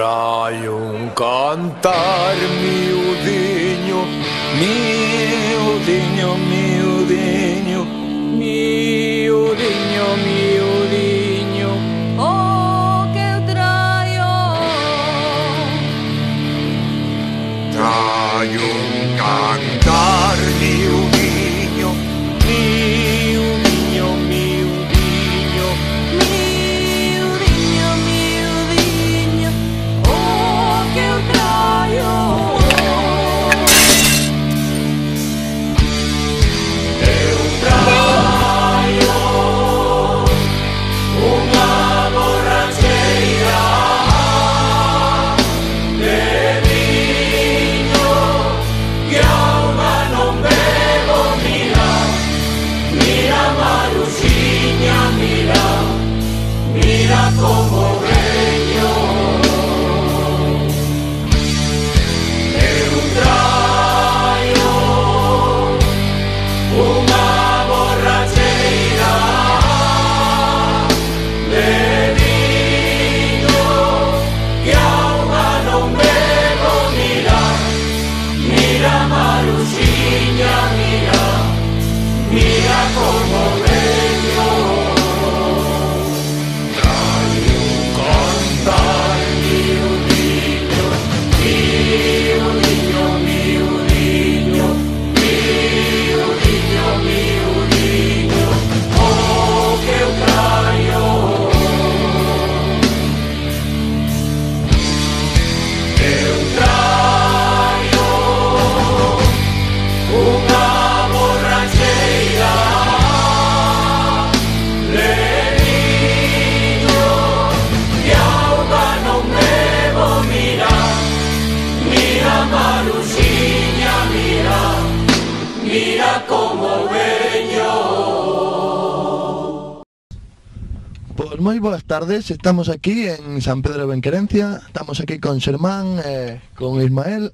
Trai un cantar miudiño, miudiño, miudiño, miudiño, miudiño, oh, que eu traio. Trai un cantar miudiño, miudiño, miudiño, Miudiño, miudiño, oh, que eu traio. Eu traio unha borracheira de viño que alma non bebo. Mira, mira Maruxiña, mira, mira como veño. Eu traio unha borracheira de viño que auga non bebo. Mira, mira Maruxiña, mira, mira como veño. Trai un cantar miudiño, miudiño, miudiño, miudiño, miudiño, oh, que eu traio. Eu traio unha borracheira de viño que auga non bebo. Mira, mira Maruxiña, mira, mira como veño. Pois moi boas tardes, estamos aquí en San Pedro de Benquerencia, estamos aquí con Xermán, con Ismael.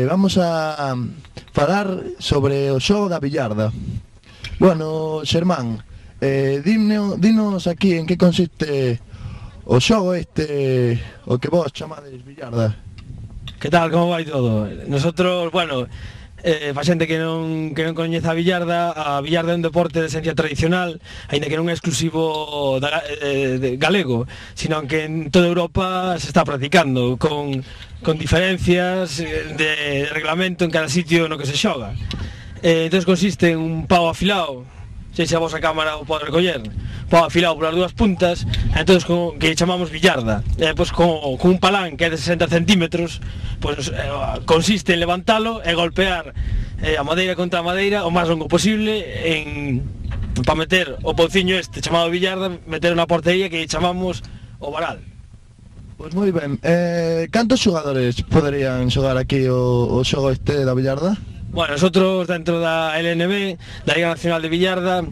Vamos a falar sobre o xogo da billarda. Bueno, Xermán, dinos aquí en que consiste o xogo este, o que vos chamades billarda. Que tal, como vai todo? Nosotros, bueno, pa xente que non coñece a billarda é un deporte de esencia tradicional, aínda que non é exclusivo de galego, sino que en toda Europa se está practicando, con diferencias de reglamento en cada sitio no que se xoga. Entón consiste en un pau afilado, sei se a vosa cámara o pode recoller, pau afilado polas dúas puntas, entón que chamamos billarda. Pois con un palán que é de 60 centímetros, pois consiste en levantalo e golpear a madeira contra a madeira o máis longo posible para meter o pouciño este chamado billarda, meter na portería que chamamos o varal. Pois moi ben, cantos xogadores poderían xogar aquí o xogo este da billarda? Bueno, nosotros dentro da LNB, da Liga Nacional de Billarda,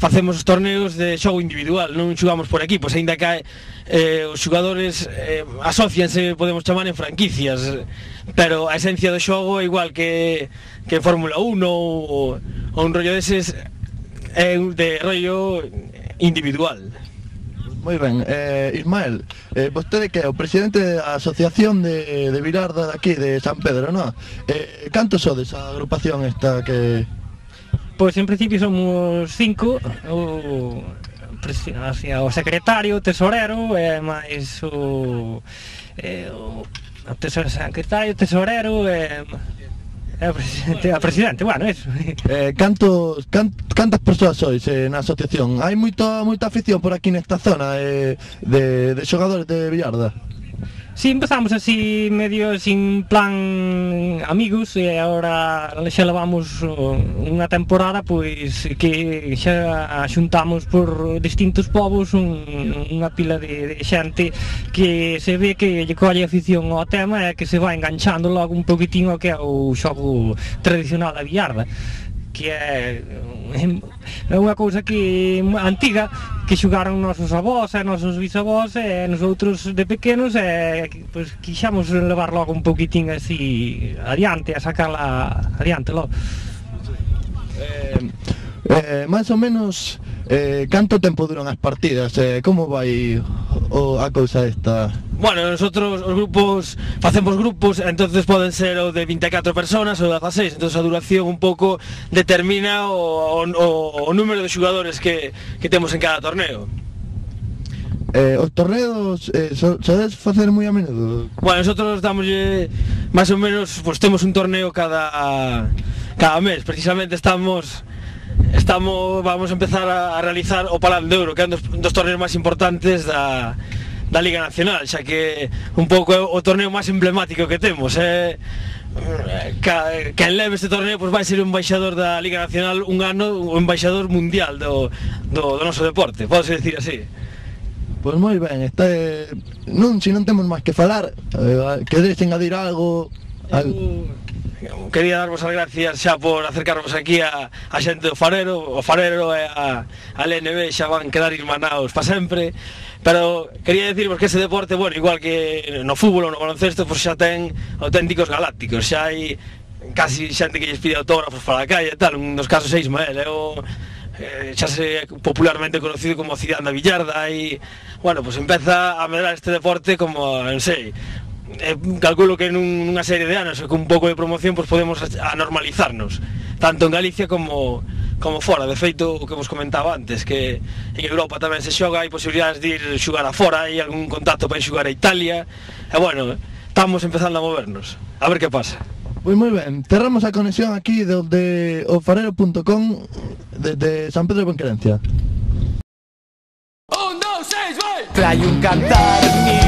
facemos os torneos de xogo individual, non xogamos por equipos, aínda que os xogadores asocianse, podemos chamar, en franquicias, pero a esencia do xogo é igual que Fórmula 1 ou un rollo deses, é de rollo individual. Moi ben, Ismael, vostede que é o presidente da asociación de billarda daqui de San Pedro, non? Cantos sodes a agrupación esta que... Pois en principio somos 5, o secretario, o tesorero, e máis o secretario, tesorero e a presidente, bueno, eso. Cantas persoas sois na asociación? Hai moita afición por aquí nesta zona de xogadores de billarda? Si, empezamos así medio sin plan amigos e agora xa levamos unha temporada pois que xa xuntamos por distintos povos unha pila de xente que se ve que lle colle afición ao tema e que se vai enganchando logo un poquitín ao que é o xogo tradicional da billarda, que é unha cousa que antiga, que xogaron nosos avós e nosos bisavós e nosotros de pequenos, e pois quixamos levar logo un poquitín así adiante, a sacarla adiante logo. máis ou menos Canto tempo duran as partidas? Como vai a cousa esta? Bueno, nosotros os grupos facemos grupos, entonces poden ser o de 24 personas ou de 16, entonces a duración un pouco determina o número de xogadores que temos en cada torneo. Os torneos sodes facer moi a menudo? Bueno, nosotros damos máis ou menos, pues temos un torneo cada mes, precisamente vamos a empezar a realizar o Palán de Ouro, que é un dos torneos máis importantes da Liga Nacional, xa que un pouco é o torneo máis emblemático que temos. Quen leve este torneo pues vai ser o embaixador da Liga Nacional un ano, o embaixador mundial do noso deporte, podese dicir así. Pois moi ben, se non temos máis que falar, queredes engadir algo? Quería darvos as gracias xa por acercarvos aquí a xente do Farero. O Farero e a LNB xa van quedar irmanaos para sempre, pero quería decirvos que ese deporte, bueno, igual que no fútbol ou no baloncesto, pues xa ten auténticos galácticos, xa hai casi xente que lles pide autógrafos para a calle e tal. Un dos casos é Ismael, xa se popularmente conocido como Cidade da Villarda, e bueno, pues empeza a medrar este deporte como, non sei, calculo que nunha serie de anos con un pouco de promoción pues podemos anormalizarnos tanto en Galicia como fora. De feito, o que vos comentaba antes, que en Europa tamén se xoga, hai posibilidades de ir xogar a fora, hai algún contacto para ir xogar a Italia, e bueno, estamos empezando a movernos, a ver que pasa. Pois moi ben, cerramos a conexión aquí desde ofarero.com desde San Pedro de Benquerencia. Un, dos, seis, vai! Trae un cantar